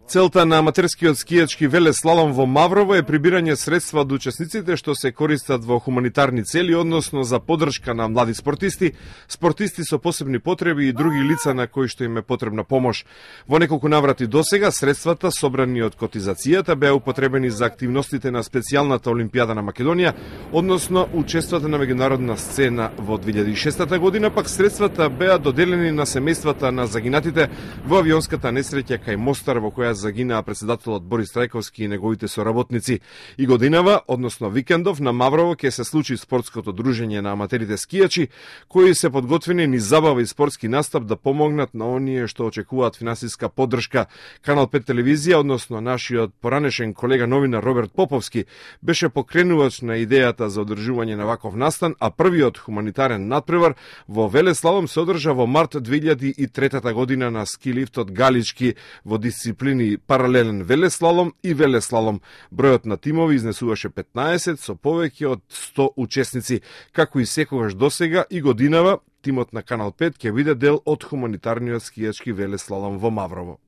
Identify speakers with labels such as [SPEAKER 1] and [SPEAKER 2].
[SPEAKER 1] Целта на аматерскиот скијачки велеслалом во Маврово е прибирање средства од учесниците што се користат во хуманитарни цели, односно за поддршка на млади спортисти, спортисти со посебни потреби и други лица на кои што им е потребна помош. Во неколку наврати досега средствата собрани од котизацијата беа употребени за активностите на специјалната Олимпијада на Македонија, односно учествата на меѓународна сцена во 2006 година, пак средствата беа доделени на семејствата на загинатите во авионската несреќа кај Мостар во која загинаа председателот Борис Трајковски и неговите соработници. И годинава, односно викендов, на Маврово ќе се случи спортското дружење на аматерите скијачи, кои се подготвени низ забава и спортски настап да помогнат на оние што очекуваат финансиска поддршка. Канал 5 телевизија, односно нашиот поранешен колега новинар Роберт Поповски, беше покренувач на идејата за одржување на ваков настан, а првиот хуманитарен надпревар во велеслалом се одржа во март 2003 година на ски лифтот Галички во дисциплини паралелен велеслалом и велеслалом. Бројот на тимови изнесуваше 15 со повеќе од 100 учесници. Како и секогаш досега и годинава, тимот на Канал 5 ќе биде дел од хуманитарниот скијачки велеслалом во Маврово.